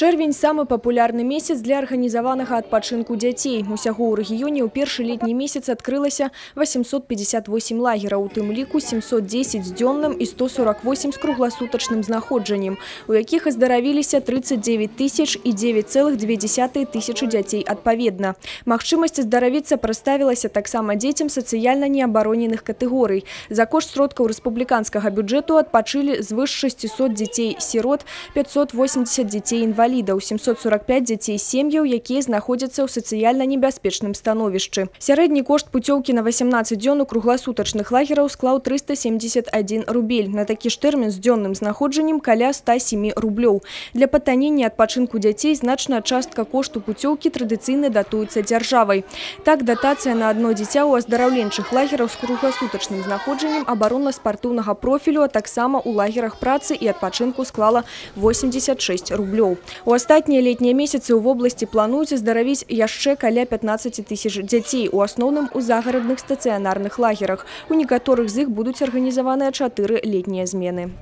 Чэрвень – самый популярный месяц для организованного адпачынку дзяцей. Усяго ў рэгіёне ў першы летні месяц адкрылася 858 лагераў, у тым ліку 710 з дзённым і 148 з кругласутачным знаходжаннем, у якіх аздаравіліся 39 тысяч і 9,2 тысячы дзяцей адпаведна. Магчымасць аздаравіцца прадставілася таксама дзецям сацыяльна неабароненых катэгорый. За кошт сродкаў рэспубліканскага бюджэту адпачылі звыш 600 дзяцей-сірот, 580 дзяцей-інвалідаў, 745 дзяцей сем'яў, якія знаходзяцца ў сацыяльна небяспечным становішчы. Сярэдні кошт пуцёўкі на 18 дзён у кругласутачных лагераў склаў 371 рубель. На такі ж тэрмін з дзённым знаходжаннем каля 107 рублёў. Для патанення адпачынку дзяцей значная частка кошту пуцёўкі традыцыйна датуецца дзяржавай. Так, датацыя на адно дзіця ў аздараўленчых лагерах з кругласутачным знаходжаннем абаронна-спартыўнага профілю, а таксама ў лагерах працы і адпачынку склала 86 рублёў. У астатнія летнія месяцы ў вобласці плануюць аздаравіць яшчэ каля 15 тысяч дзяцей, у асноўным у загарадных стацыянарных лагерах. У некаторых з іх будуць арганізаваныя 4 летнія змены.